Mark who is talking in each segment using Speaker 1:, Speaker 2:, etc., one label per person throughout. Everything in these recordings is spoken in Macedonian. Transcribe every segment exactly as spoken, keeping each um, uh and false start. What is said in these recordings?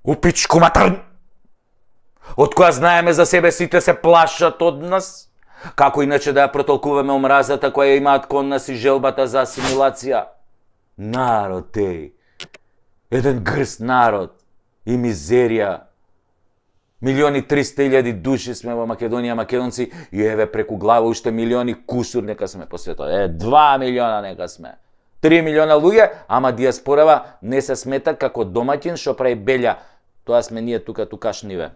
Speaker 1: У пичку матар! Од која знаеме за себе сите се плашат од нас, како иначе да ја протолкуваме омразата која имаат кон нас и желбата за асимилација. Народ еј, еден грст народ и мизерија. Милиони триста илјади души сме во Македонија, македонци, и еве преку глава уште милиони кусур нека сме по светот. Е, два милиона нека сме. Три милиона луѓе, ама диаспорава не се смета како домаќин што прави белја. Тоа сме ние тука тукашниве.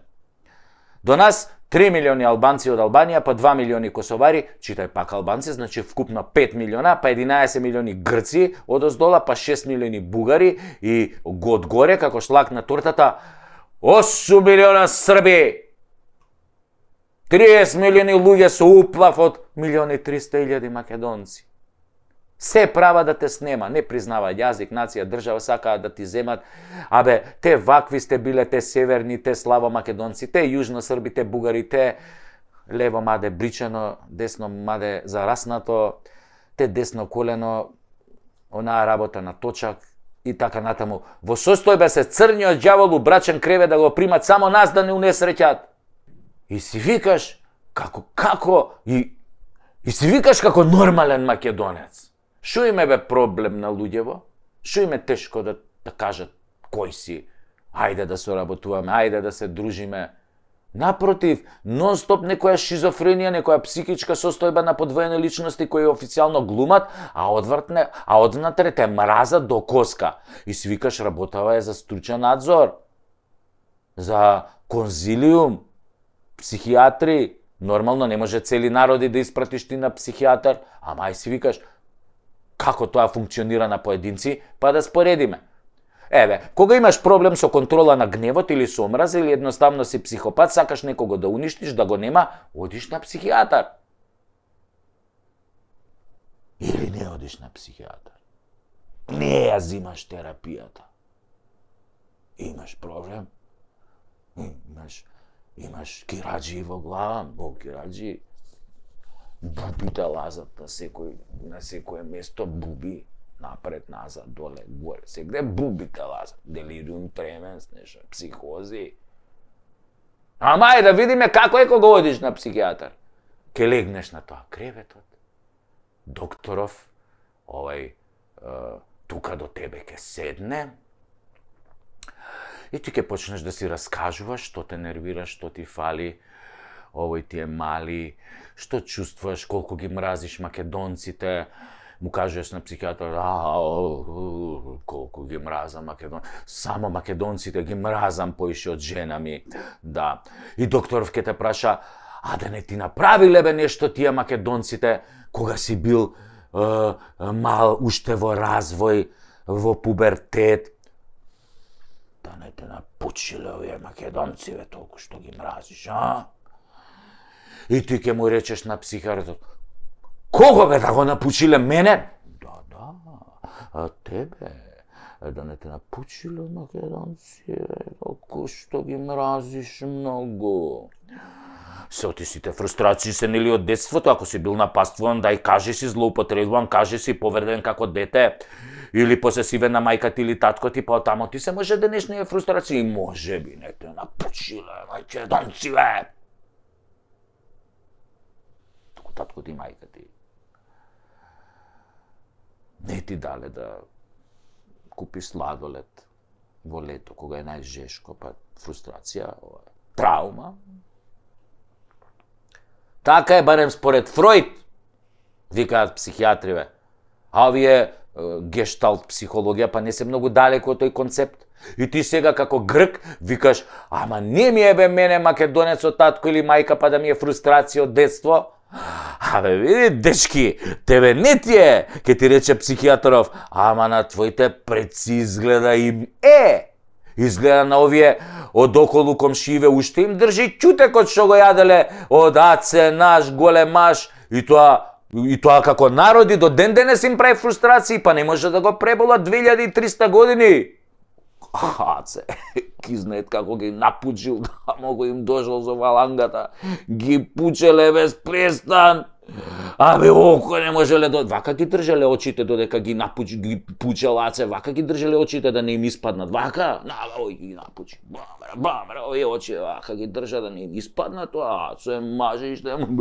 Speaker 1: До нас три милиони албанци од Албанија, па два милиони косовари, читај пак албанци, значи вкупно пет милиона, па единаесет милиони грци од оздола, па шест милиони бугари и од горе како шлак на тортата осум милиона срби. триесет милиони луѓе со уплав од милиони триста илјади македонци. Се права да те снема, не признава јазик, нација, држава, сакаат да ти земат. Абе, те вакви сте биле, те северни, те славо македонци, те јужно срби, те бугари, те лево маде бричено, десно маде зараснато, те десно колено, онаа работа на точак и така натаму. Во состојба се црниот ѓавол убрачен креве да го примат само нас да не унесреќат. И си викаш како како и и си викаш како нормален македонец. Шо им е бе проблем на луѓево? Шо им е тешко да, да кажат кој си? Ајде да соработуваме, ајде да се дружиме. Напротив, нон-стоп некоја шизофренија, некоја психичка состојба на подвоени личности кои официјално глумат, а одвртне, а одвнатре те мразат до коска. И си викаш работава е за стручен надзор, за конзилиум, психијатри. Нормално не може цели народи да испратиш ти на психијатар, ама ај си викаш како тоа функционира на поединци, па да споредиме. Еве, кога имаш проблем со контрола на гневот или со омраза или едноставно си психопат, сакаш некого да уништиш, да го нема, одиш на психијатар. Или не одиш на психијатар. Не ја зимаш терапијата. Имаш проблем? Имаш, имаш кираџи во глава, во кираџи. Бубите лазат на секој, на секое место, буби. Напред, назад, доле, горе, сегде бубите лазат, делириум тременс, нешто, психози. Ама е да видиме како е кога одиш на психијатар. Ке легнеш на тоа креветот, докторов, овај, е, тука до тебе ке седне, и ти ке почнеш да си раскажуваш што те нервира, што ти фали, овој ти е мали, што чувствуваш, колку ги мразиш македонците, му кажеш на психијатар, а, колку ги мразам македон, само македонците ги мразам поише од жена ми, да. И докторов ке те праша, а да не ти направиле бе нешто тие македонците, кога си бил е, мал, уште во развој, во пубертет, да не те напучиле овие македонци, бе, толку што ги мразиш, а? И ти ке му речеш на психијатрот, кого бе да го напучиле мене? Да, да, а тебе, да не те напучиле македонци, толку што ги мразиш многу. Се оти сите фрустрации се нели од детството, ако си бил напаствуван, дај кажи си злоупотребуван, кажи си повреден како дете, или посесивен на мајка ти или татко ти, па тамо ти се може денешни фрустрации, може би не те напучиле македонци, бе. Татко ти, мајка ти не ти дале да купиш сладолед во лето, кога е најжешко, па фрустрација, траума. Така е барем според Фројд, викаат психијатриве. А овие гешталт психологија па не се многу далеко од тој концепт. И ти сега како грк викаш, ама не ми е бе мене македонец од татко или мајка па да ми е фрустрација од детство. Абе, види, дечки, тебе не ти е, ке ти рече психијатров, ама на твоите предци изгледа им е. Изгледа на овие од околу комшииве уште им држи ќутекот што го јаделе од аце наш големаш и тоа и тоа како народи до ден денес им прави фрустрации, па не може да го преболат две илјади и триста години. Аце, ки знаат како ги напучил, да могу им дошол со валангата, ги пучеле без престан. Абе, око не можеле да... Вака ги држале очите додека ги напучи, ги пуче лаце, вака ги држале очите да не им испаднат. Вака, на, ој ги напучи. Бамра, бамра, овие очи, вака ги држа да не им испаднат, а, се мажеш да им...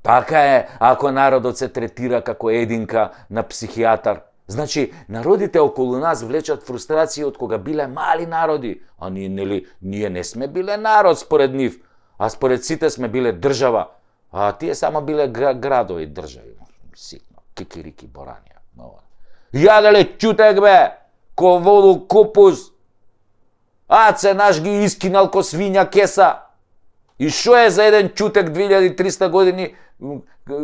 Speaker 1: Така е, ако народот се третира како единка на психијатар. Значи, народите околу нас влечат фрустрации од кога биле мали народи, а ние, нели, ние не сме биле народ според нив, а според сите сме биле држава, а тие само биле градови држави. Ситно, кикирики боранија. Јаделе чутек бе, ко воду купус, аце наш ги искинал ко свиња кеса. И шо е за еден чутек две илјади и триста години,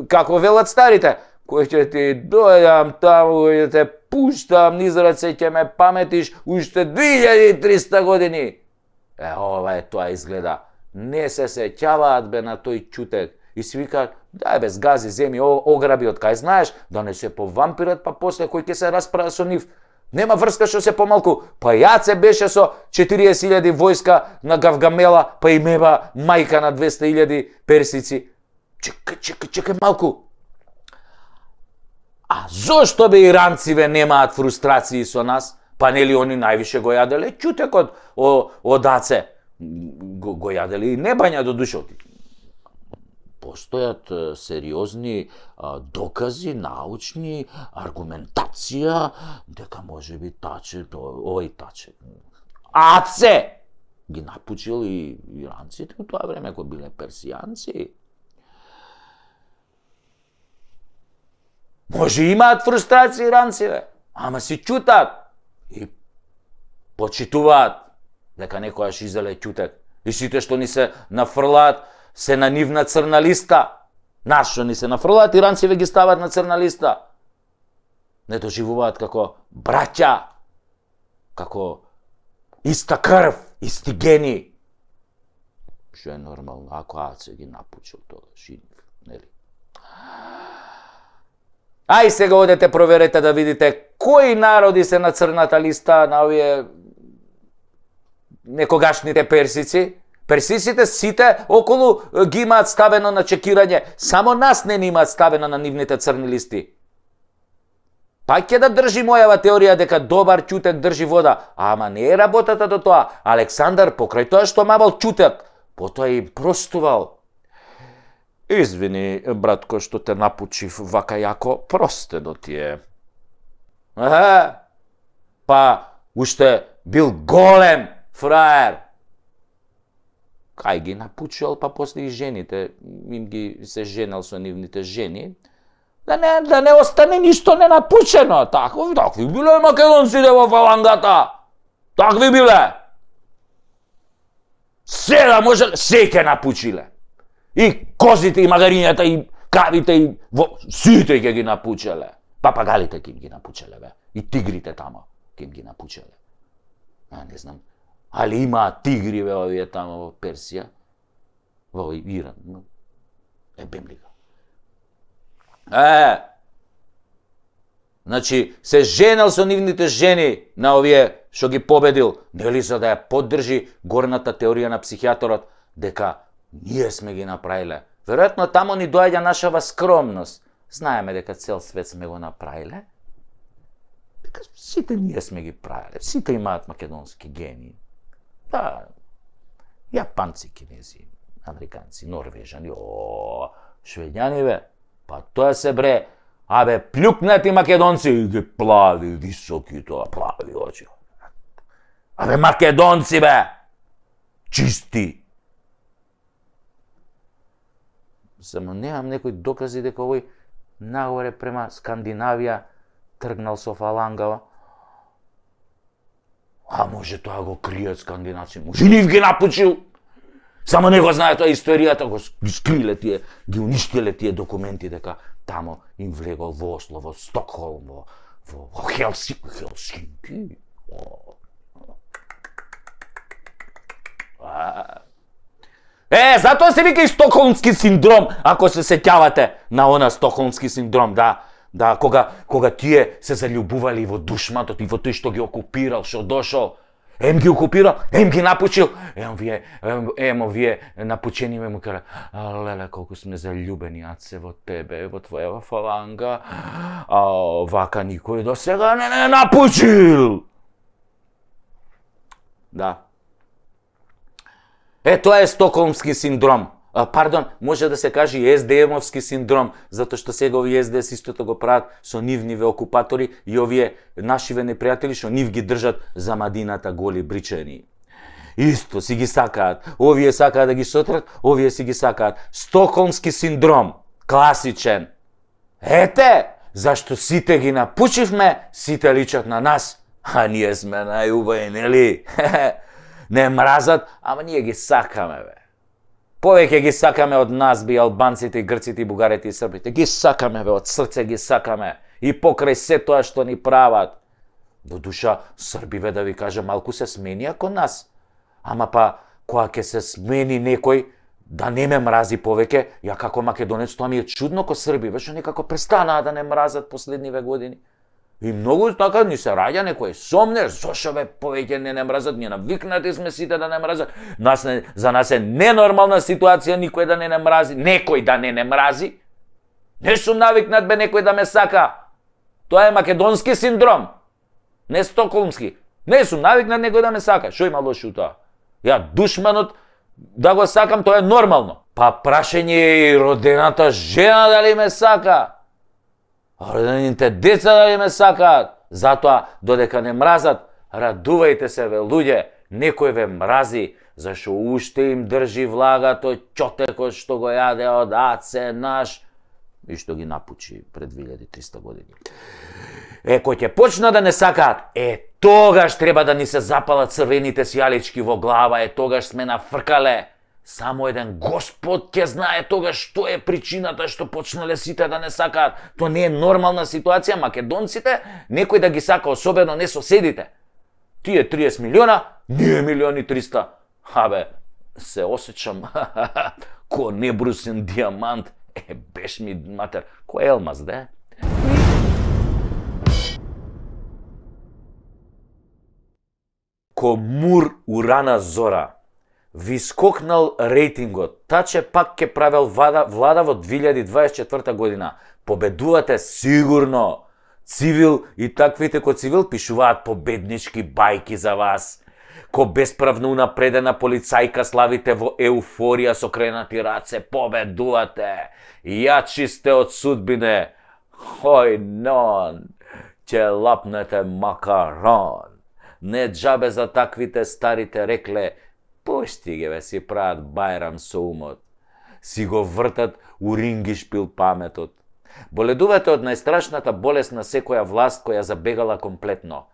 Speaker 1: како велат старите, кој ќе ти дојдам таму, кој ќе те пуштам низ раце, ќе ме паметиш уште две илјади и триста години. Е, ова е тоа изгледа. Не се сеќаваат бе на тој чутек. И си викаат, дај бе, згази, земи, ограби од кај знаеш, да не се повампират, па после кој ќе се расправа со нив. Нема врска што се помалку. Па Јаце беше со четириесет илјади војска на Гавгамела, па и меба мајка на двесте илјади персици. Чекај, чекај, чекај малку. А зошто бе иранциве немаат фрустрации со нас? Па нели они највише го јаделе чутекот од Аце. Го, го јаделе и не бања до душот. Постојат сериозни а, докази, научни, аргументација, дека може би таче, ој таче. Аце! Ги напучил и иранците у тоа време, кои биле персијанци. Може имаат фрустрации иранциве, ама си чутат и почитуваат дека некојаш изеле чутек. И сите што ни се нафрлаат се на нивна црна листа. Нас што ни се нафрлаат, иранциве ги стават на црна листа. Не доживуваат како браќа, како иста крв, исти гени. Што е нормално, ако Аце ги напучил тогаш и нели? Ај сега одете проверете да видите кои народи се на црната листа на овие некогашните персици. Персиците сите околу ги имаат ставено на чекирање, само нас не ни имаат ставено на нивните црни листи. Па ќе да држи мојава теорија дека добар чутек држи вода, ама не е работата до тоа. Александар покрај тоа што мавал чутек, потоа и простувал. Извини, братко, што те напучив вака јако, простено ти е. Еhe, па уште бил голем фраер. Кај ги напучил, па после и жените, им ги се женал со нивните жени, да не, да не остане ништо ненапучено. Такви, такви биле македонците во фалангата. Такви биле. Се да може, се ке напучиле. И козите, и магарињата, и кравите, и во... сите ќе ги напучеле. Папагалите ќе ги напучеле, бе. И тигрите тамо ќе ги напучеле. А, не знам. Али имаат тигри, бе, овие тамо во Персија, во Иран. Е, бемлига. Е, значи, се женал со нивните жени на овие што ги победил, нели за да ја поддржи горната теорија на психијаторот, дека ние сме ги направиле. Веројатно тамо ни доаѓа нашава скромност. Знаеме дека цел свет сме го направиле. Дека сите ние сме ги правиле. Сите имаат македонски гени. Да, јапанци, кинези, американци, норвежани, о, швеѓани, бе. Па тоа се бре, абе, плюкнати македонци, и ги плави, високи тоа, плави очи. Абе, македонци, бе, чисти. Само немам некои докази дека овој нагоре према Скандинавија тргнал со фалангава. А може тоа го кријат скандинаци, може нив ги напучил. Само не го знае тоа историјата, го скриле тие, ги уништиле тие документи дека тамо им влегол во Осло, во Стокхолм, во, во, во Хелсинки. Хелсинки. Е, затоа се вика и стокхолмски синдром, ако се сеќавате на она стокхолмски синдром, да. Да, кога, кога тие се заљубували во душматот и во тој што ги окупирал, што дошол. Ем ги окупирал, ем ги напучил, ем вие, ем, емо вие напучени ме му кажа, леле, колку сме заљубени, аце, во тебе, во твоја фаланга, а вака никој до сега не не напучил. Да. Е, тоа е стокхолмски синдром. А, пардон, може да се каже и ес де емовски синдром, затоа што сега овие ес де ес истото го прават со нивниве окупатори и овие нашиве непријатели што нив ги држат за мадината голи бричани. Исто си ги сакаат. Овие сакаат да ги сотрат, овие си ги сакаат. Стокхолмски синдром, класичен. Ете, зашто сите ги напучивме, сите личат на нас, а ние сме најубави, нели? Не мразат, ама ние ги сакаме, бе. Повеќе ги сакаме од нас, би албанците, грците, бугарите и србите. Ги сакаме, бе, од срце ги сакаме. И покрај се тоа што ни прават. До душа, србиве, да ви кажа, малку се сменија кон нас. Ама па, кога ќе се смени некој, да не ме мрази повеќе, ја како македонец, тоа ми е чудно ко срби, веќе некако престанаа да не мразат последниве години. И многу така ни се раѓа некој сомнеш, зошто бе повеќе не не мразат, ние навикнати сме сите да не мразат. Нас не, за нас е ненормална ситуација никој да не не мрази, некој да не не мрази. Не сум навикнат бе некој да ме сака. Тоа е македонски синдром, не стокхолмски. Не сум навикнат некој да ме сака. Што има лошо тоа? Ја душманот да го сакам, тоа е нормално. Па прашање е и родената жена дали ме сака. Родените деца дали ме сакаат, затоа додека не мразат, радувајте се, ве луѓе, некој ве мрази, зашто уште им држи влагато ќотекот што го јаде од аце наш и што ги напучи пред две илјади и триста години. Е, кој ќе почна да не сакаат, е, тогаш треба да ни се запалат црвените сјалички во глава, е, тогаш сме нафркале. Само еден Господ ќе знае тогаш што е причината што почнале сите да не сакаат. Тоа не е нормална ситуација. Македонците, некој да ги сака, особено не соседите. Тие триесет милиона, ние милиони триста. Абе, се осеќам ко небрусен дијамант. Е, беш ми матер, кој елмаз, де? Ко мур урана зора. Ви скокнал рейтингот, таче пак ќе правел влада, влада во две илјади дваесет и четврта година. Победувате сигурно. Цивил и таквите ко Цивил пишуваат победнички бајки за вас. Ко бесправно унапредена полицајка славите во еуфорија со кренати раце, победувате. Јачи сте од судбине. Хој нон, ќе лапнете макарон. Не џабе за таквите старите рекле, пушти ги бе, си прават бајрам со умот. Си го вртат у рингишпил паметот. Боледувате од најстрашната болест на секоја власт која забегала комплетно.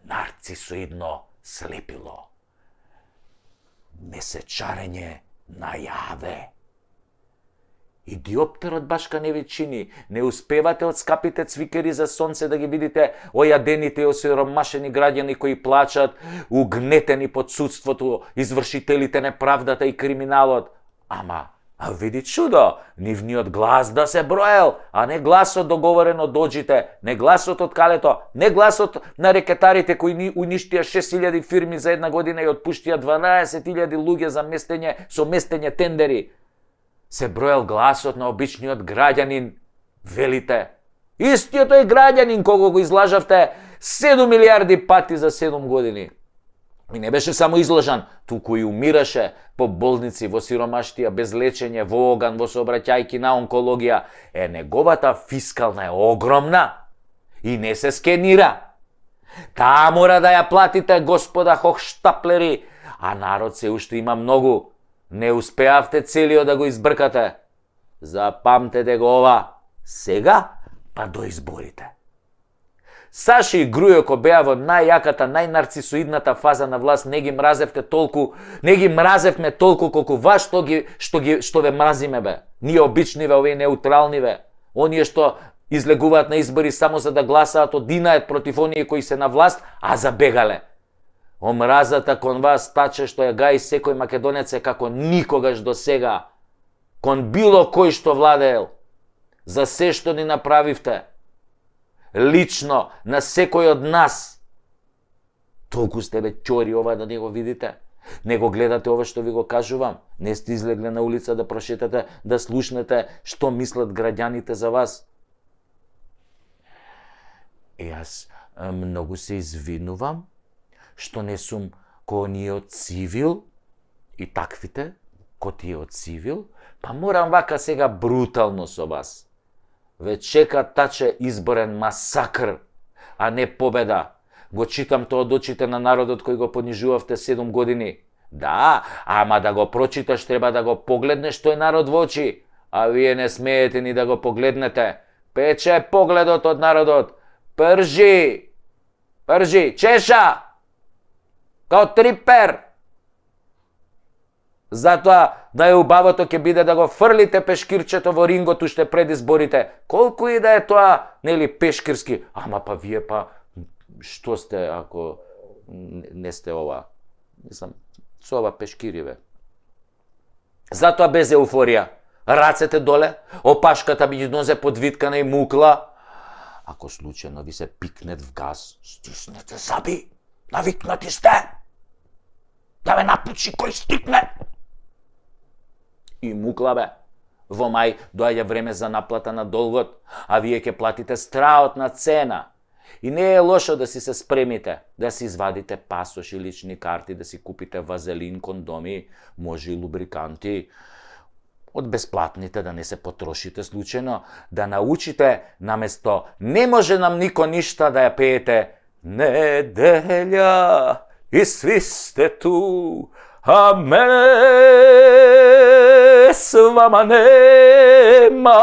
Speaker 1: Нарцисоидно слепило. Месечарење најаве. И диоптерот башка не ви чини. Не успевате од скапите цвикери за сонце да ги видите ојадените и осиромашени граѓани кои плачат, угнетени под судството, извршителите неправдата и криминалот. Ама, а види чудо, нивниот глас да се броел, а не гласот договорен од доџите, не гласот од калето, не гласот на рекетарите кои ни уништија шест илјади фирми за една година и отпуштија дванаесет илјади луѓе за местење со местење тендери. Се броел гласот на обичниот граѓанин, велите. Истиот тој граѓанин кого го излажавте седум милиарди пати за седум години. И не беше само излажан, туку и умираше по болници, во сиромаштија, без лечење, во оган, во сообраќајки на онкологија. Е, неговата фискална е огромна и не се скенира. Таа мора да ја платите, господа хохштаплери, а народ се уште има многу. Не успеавте целиот да го избркате. Запамтете го ова. Сега, па до изборите. Саши и Грујо ко беа во најјаката, најнарцисоидната фаза на власт, не ги мразевте толку, не ги мразевме толку колку вас што ги што ги што ве мразиме бе. Ние обичниве, овие неутралниве. Оние што излегуваат на избори само за да гласаат одинаат против оние кои се на власт, а забегале. Омразата кон вас таче што ја гаи секој македонец е како никогаш до сега. Кон било кој што владеел. За се што ни направивте. Лично на секој од нас. Толку сте бе ќори ова да не го видите. Не го гледате ова што ви го кажувам. Не сте излегле на улица да прошетате, да слушнете што мислат граѓаните за вас. Е, јас многу се извинувам што не сум ко ние од цивил и таквите, ко тие од цивил, па морам вака сега брутално со вас. Ве чека таче изборен масакр, а не победа. Го читам тоа од очите на народот кој го понижувавте седум години. Да, ама да го прочиташ треба да го погледнеш тој народ во очи, а вие не смеете ни да го погледнете. Пече погледот од народот. Пржи! Пржи! Чеша! Као трипер! Затоа најубавото ќе биде да го фрлите пешкирчето во рингот уште пред изборите. Колку и да е тоа, нели, пешкирски. Ама па вие па, што сте ако не сте ова? Мислам, со ова пешкириве. Затоа без еуфорија. Рацете доле, опашката меѓу нозе подвиткана и мукла. Ако случајно ви се пикнет в газ, стиснете заби. Навикнати сте. Да ве напучи кој стикне. И мукла бе. Во мај доаѓа време за наплата на долгот, а вие ќе платите страотна цена. И не е лошо да си се спремите, да си извадите пасош и лични карти, да си купите вазелин, кондоми, може и лубриканти. Од бесплатните да не се потрошите случајно, да научите наместо не може нам нико ништа да ја пеете неделја и сви сте ту, а мене с вама нема.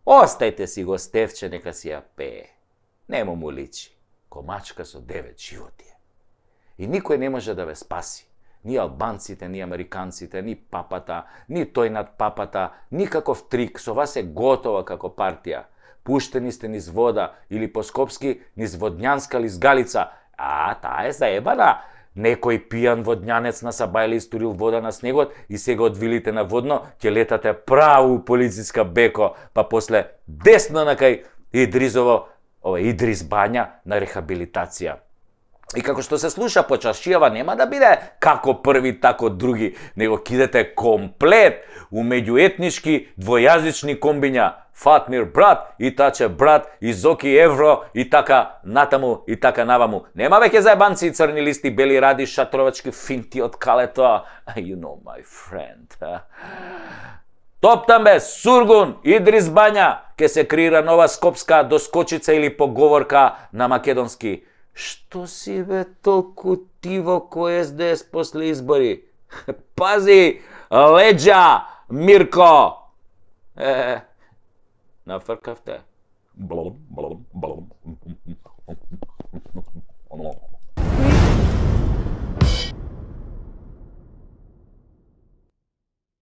Speaker 1: Остајте си го Стефче, нека си ја пее. Нему му личи. Комачка со девет животи. И никој не може да ве спаси. Ни албанците, ни американците, ни папата, ни тој над папата, никаков трик. Со вас е готова како партија. Пуштени сте низ вода, или по скопски низ водњанска лизгалица. А, таа е заебана. Некој пијан водњанец на Сабајле истурил вода на снегот и сега од вилите на водно ќе летате право у полициска беко, па после десно на кај Идризово, ова Идрис Бања на рехабилитација. И како што се слуша по чашијава нема да биде како први, тако други, него кидете комплет у меѓуетнички двојазични комбиња. Фатмир брат, и Таче брат, и Зоки евро, и така натаму, и така наваму. Нема веќе заебанци и црни листи, бели ради, шатровачки финти од калето. You know my friend. Топтам бе, Сургун, Идрис Бања, ке се креира нова скопска доскочица или поговорка на македонски. Што си бе толку тиво кој Ес Де Ес после избори? Пази, леđa, Мирко! Е, нафркавте. Блом, блом.